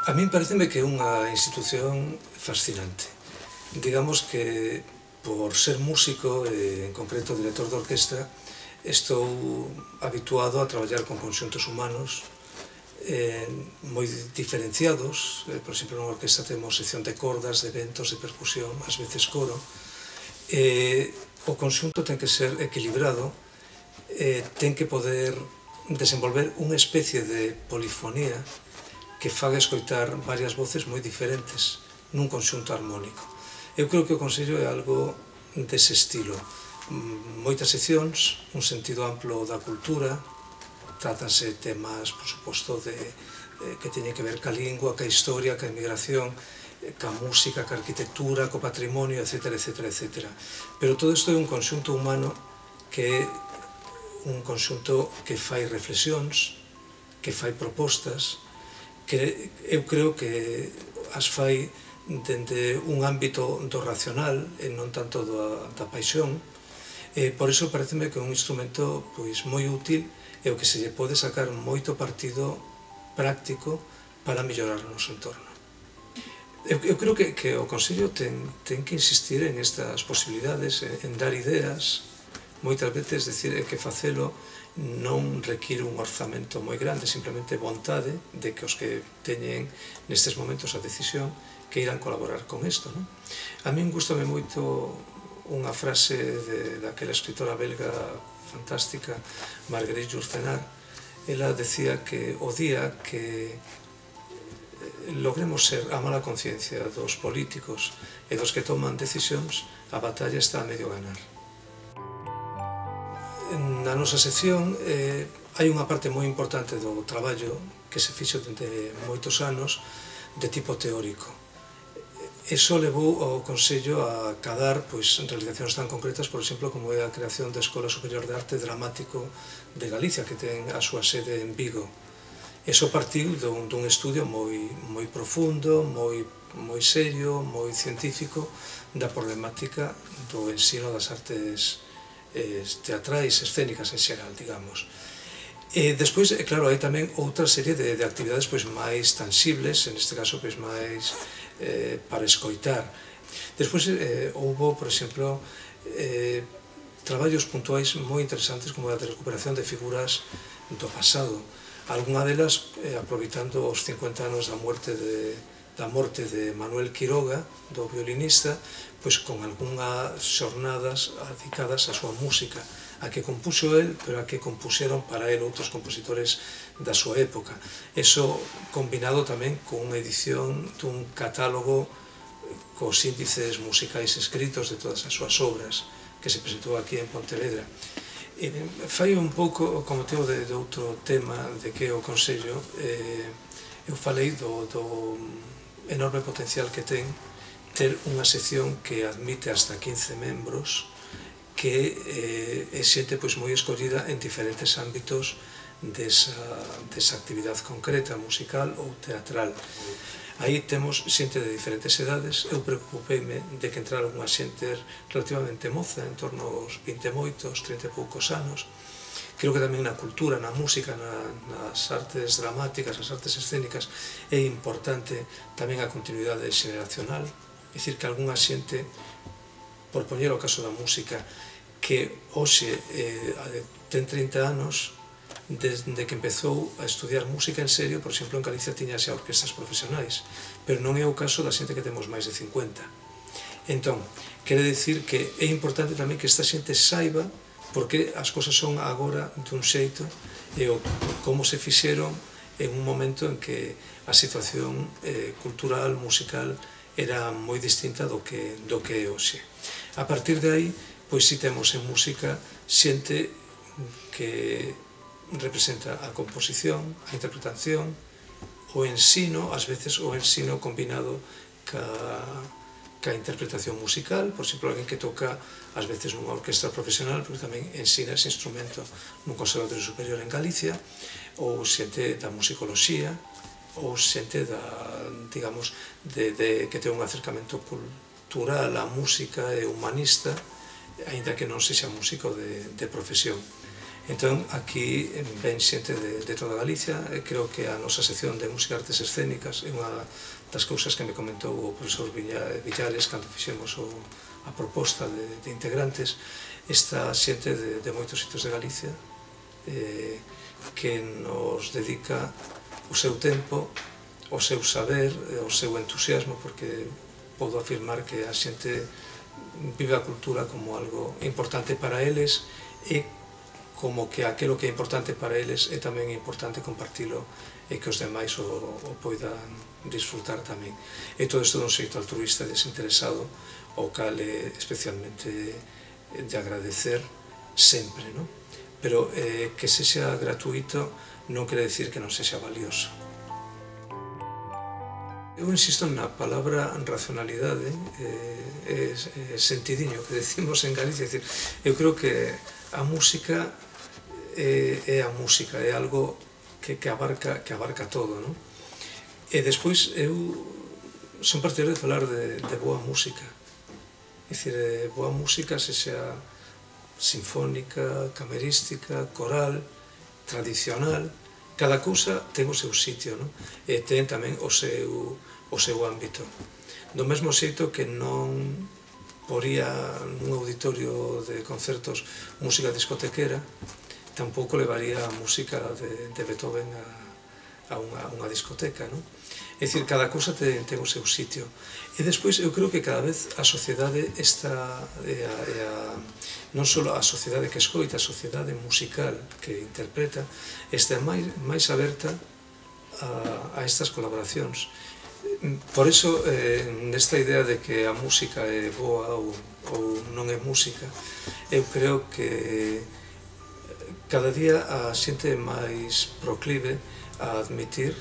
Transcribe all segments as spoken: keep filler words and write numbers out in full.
A min pareceme que é unha institución fascinante. Digamos que, por ser músico, e en concreto director de orquestra, estou habituado a traballar con conxuntos humanos eh, moi diferenciados. Eh, por exemplo, nunha orquestra temos sección de cordas, de ventos, de percusión, ás veces coro. Eh, o conxunto ten que ser equilibrado, eh, ten que poder desenvolver unha especie de polifonía que faga escoitar varias voces moi diferentes nun conxunto armónico. Eu creo que o Consello é algo dese estilo. Moitas seccións, un sentido amplo da cultura, tratase temas, por suposto, de, eh, que teñen que ver ca lingua, ca historia, ca emigración, ca música, ca arquitectura, co patrimonio, etcétera, etcétera, etcétera. Pero todo isto é un conxunto humano que é un conxunto que fai reflexións, que fai propostas, que eu creo que as fai dende un ámbito do racional e non tanto da, da paixón. E por iso pareceme que é un instrumento pois moi útil e o que se lle pode sacar moito partido práctico para mellorar o noso entorno. Eu, eu creo que, que o Consello ten, ten que insistir en estas posibilidades, en, en dar ideas. Moitas veces, decir, é que facelo non require un orzamento moi grande, simplemente vontade de que os que teñen nestes momentos a decisión que irán colaborar con isto, non? A min gustame moito unha frase de, daquela escritora belga fantástica, Marguerite Yourcenar. Ela decía que o día que logremos ser a mala conciencia dos políticos e dos que toman decisións, a batalla está a medio ganar. Na nosa sección eh, hai unha parte moi importante do traballo que se fixo dende moitos anos de tipo teórico. Eso levou ao Consello a cadar pois, realizacións tan concretas, por exemplo, como é a creación da Escola Superior de Arte Dramático de Galicia, que ten a súa sede en Vigo. Eso partiu dun, dun estudio moi, moi profundo, moi, moi serio, moi científico da problemática do ensino das artes teatrais, escénicas en xeral, digamos. E despois, claro, hai tamén outra serie de, de actividades pois, máis tangibles, en este caso pois, máis eh, para escoitar. Despois eh, houbo, por exemplo, eh, traballos puntuais moi interesantes como a de recuperación de figuras do pasado. Algunha delas, eh, aproveitando os cincuenta anos da muerte de da morte de Manuel Quiroga, do violinista, pois con algunhas xornadas dedicadas á súa música, a que compuxo el, pero a que compuxeron para el outros compositores da súa época. Eso combinado tamén con unha edición dun catálogo cos índices musicais escritos de todas as súas obras, que se presentou aquí en Pontevedra. E fai un pouco como motivo de, de outro tema de que o Consello, eh, eu falei do, do enorme potencial que ten ter unha sección que admite hasta quince membros, que eh, é xente pois, moi escollida en diferentes ámbitos desa, desa actividade concreta, musical ou teatral. Aí temos xente de diferentes edades. Eu preocupeime de que entrara unha xente relativamente moza, en torno aos vinte e moitos, trinta e poucos anos. Creo que tamén na cultura, na música, na, nas artes dramáticas, nas artes escénicas, é importante tamén a continuidade xeneracional. É dicir, que algunha xente, por poñer o caso da música, que hoxe eh, ten trinta anos, desde que empezou a estudiar música en serio, por exemplo, en Galicia tiña xa orquestas profesionais, pero non é o caso da xente que temos máis de cincuenta. Entón, quere dicir que é importante tamén que esta xente saiba porque as cousas son agora dun xeito e o, como se fixeron en un momento en que a situación eh, cultural, musical, era moi distinta do que, do que é hoxe. A partir de aí, pois si temos en música xente que representa a composición, a interpretación, o ensino, ás veces o ensino combinado ca ca interpretación musical, por exemplo, alguén que toca ás veces nunha orquestra profesional, pero tamén ensina ese instrumento nun conservatorio superior en Galicia, ou xente da musicoloxía, ou xente da, digamos, de, de, que ten un acercamento cultural á música e humanista, aínda que non sexa músico de, de profesión. Entón, aquí ven xente de, de toda Galicia, e creo que a nosa sección de música e artes escénicas é unha das cousas que me comentou o profesor Villares cando fixemos o, a proposta de, de integrantes. Esta xente de, de moitos sitios de Galicia eh, que nos dedica o seu tempo, o seu saber, o seu entusiasmo, porque podo afirmar que a xente vive a cultura como algo importante para eles e como que aquilo que é importante para eles é tamén importante compartilo e que os demais o, o poidan disfrutar tamén. E todo isto dun xeito altruista e desinteresado, o cal é especialmente de agradecer sempre, non? Pero eh, que sexa gratuito non quere decir que non sexa valioso. Eu insisto na palabra racionalidade, eh, é, é sentidiño que decimos en Galicia, é dicir, eu creo que a música é, é a música, é algo que, que, abarca, que abarca todo, non? E despois eu son partidario de falar de, de boa música, é dicir, boa música, se xa sinfónica, camerística, coral, tradicional, cada cousa ten o seu sitio, non? E ten tamén o seu, o seu ámbito. Do mesmo xeito que non poría nun auditorio de concertos música discotequera, tampouco levaría a música de, de Beethoven a, a, unha, a unha discoteca, non? É dicir, cada cousa ten, ten o seu sitio. E despois eu creo que cada vez a sociedade está, é a, é a, non só a sociedade que escoita, a sociedade musical que interpreta, está máis, máis aberta a, a estas colaboracións. Por iso, eh, nesta idea de que a música é boa ou, ou non é música, eu creo que cada día a xente é máis proclive a admitir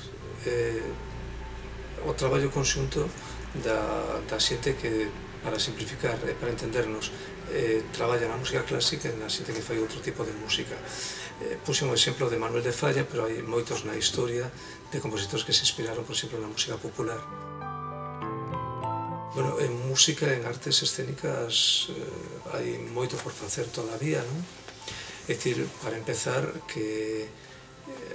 eh, o traballo conxunto da, da xente que, para simplificar e para entendernos, eh, traballa na música clásica e na xente que fai outro tipo de música. Eh, Puxe un exemplo de Manuel de Falla, pero hai moitos na historia de compositores que se inspiraron, por exemplo, na música popular. Bueno, en música, en artes escénicas, eh, hai moito por facer todavía, non? É dicir, para empezar, que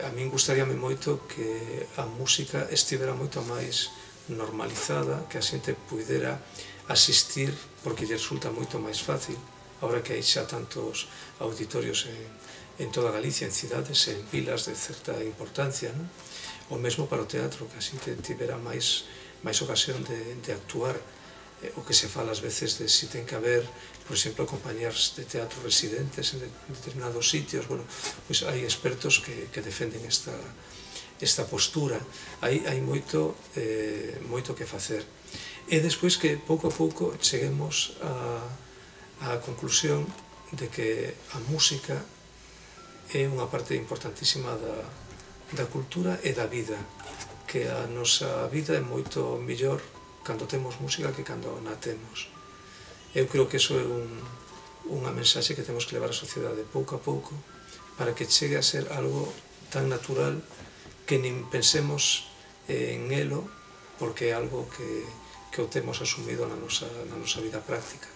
a min gustaríame moito que a música estivera moito máis normalizada, que a xente puidera asistir, porque lle resulta moito máis fácil, agora que hai xa tantos auditorios en, en toda Galicia, en cidades, en vilas de certa importancia, non? O mesmo para o teatro, que a xente tivera máis, máis ocasión de, de actuar, o que se fala ás veces de si ten que haber, por exemplo, compañías de teatro residentes en determinados sitios. Bueno, pois hai expertos que, que defenden esta, esta postura. Hai, hai moito, eh, moito que facer. E despois que pouco a pouco cheguemos a, a conclusión de que a música é unha parte importantísima da, da cultura e da vida, que a nosa vida é moito mellor cando temos música que cando na temos. Eu creo que iso é un, unha mensaxe que temos que levar á sociedade pouco a pouco para que chegue a ser algo tan natural que nin pensemos en elo porque é algo que, que o temos asumido na nosa, na nosa vida práctica.